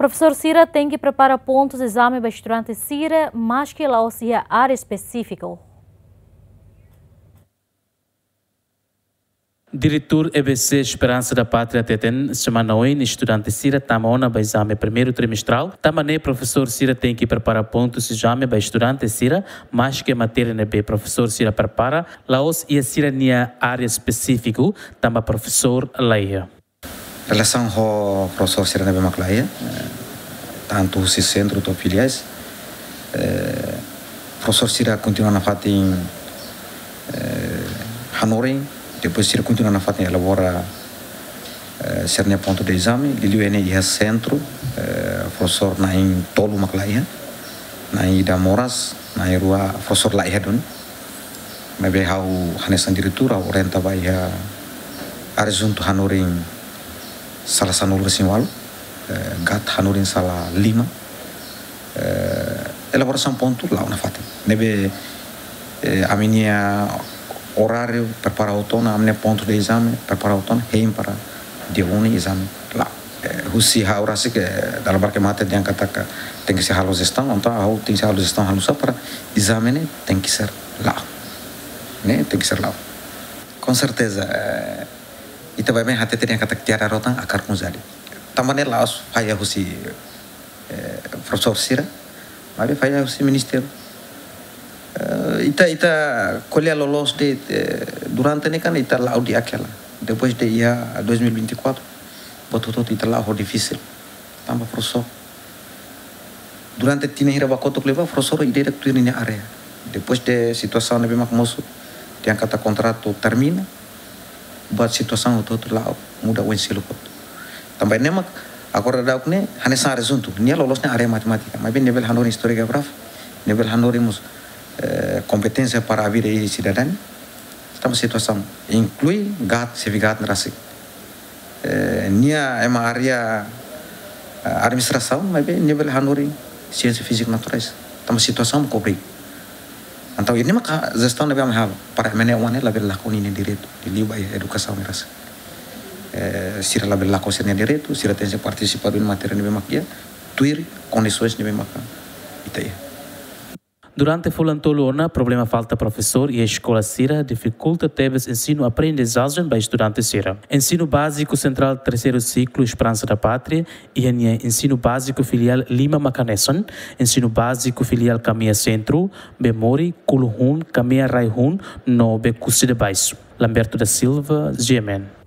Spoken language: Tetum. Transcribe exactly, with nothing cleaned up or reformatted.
Profesór sira tenke prepara pontus de ezame ba estudante sira, maske la'ós iha área espesífiku. Diretór E B C Esperança da Pátria hateten, semana oin estudante sira tama ona ba ezame primeiru trimestrál, tanba ne'e profesór sira tenke prepara pontus ezame ba estudante sira, maske matéria ne'ebé profesór sira prepara la'ós iha sira-nia área espesífiku, tanba profesór la iha. Relasaun ho profesór sira ne'ebé mak la iha, eh, tantu husi sentru to'o filiais, eh, profesór sira kontinua nafatin, eh, hanorin, depois sira kontinua nafatin elabora, eh, sira-nia pontu de ezame, liuliu iha ne'e iha sentru, eh, profesór na'in tolu mak la iha, na'in ida moras, na'in rua profesór la iha duni. Maibé ha'u hanesan diretór, ha'u orienta ba iha adjuntu hanorin sala sanulu-resin-ualu, eh, GAT hanorin sala lima, eh, elaborasaun pontu la'o nafatin. Ne'ebé, eh, ami-nia oráriu prepara hotu ona, ami-nia pontu de ezame prepara hotu ona, hein para dia oin ezame la'o. Eh, husi ha'u rasik, eh, dala barak ema hateten katak tenke sei halo jestaun, entaun ha'u tenke sei halo jestaun halo sá para ezame ne'e tenke ser la'o. Ne'e tenke ser la'o. Com certeza, eh, ita baibain hateten katak tiha rotan akar kun jadi. Tanba ne'e la'ós falla husi, eh, profesór sira, maibé falla husi ministériu. Eh, ita, ita ko'alia loloos de'it, eh, durante ne'e kan ita la'o di'ak hela. Depois de iha dois mil e vinte e quatro, buat hotu-hotu ita la'o ho difisil. Tanba profesór. Durante tinan hira ba kotuk liubá, profesór ida-idak tuir ninia área. Depois de situasaun ne'ebé mak mosu, dehan katak kontratu termina, buat situasaun hotu-hotu la'o, muda oin seluk hotu. Tanba ne'e mak agora daudaun ne'e, hanesan adjuntu, nia loloos nia área matemátika, maibé nia bele hanorin istória geográfia, nia bele hanorin mós, eh, kompeténsia para a vida e cidadania. Tanba situasaun, inklui GAT, xefe GAT ne'e rasik. Eh, nia ema área, eh, administrasaun, maibé nia bele hanorin siénsia fízika naturais. Tanba situasaun mak obriga. Entaun, ne'e maka jestaun ne'ebé ami halo, para ema ne'e oan ne'e labele lakon ninia direitu, liuliu ba edukasaun ne'e rasik. Eh, sira labele lakon sira-nia direitu, sira tenke partisipa duni matéria ne'ebé mak iha, tuir kondisoens ne'ebé maka ita iha. Durante fulan tolu ona, problema falta profesór iha eskola sira difikulta tebes ensinu-aprendizajen ba estudante sira. Ensinu Báziku Sentrál Terseiru Siklu Esperança da Pátria iha nia ensinu báziku filiál lima mak hanesan, ensinu báziku filiál Kamea Sentru, Bemori, Kuluhun, Kamea Raihun no Bekusi de Baixo. Lamberto da Silva, G M N.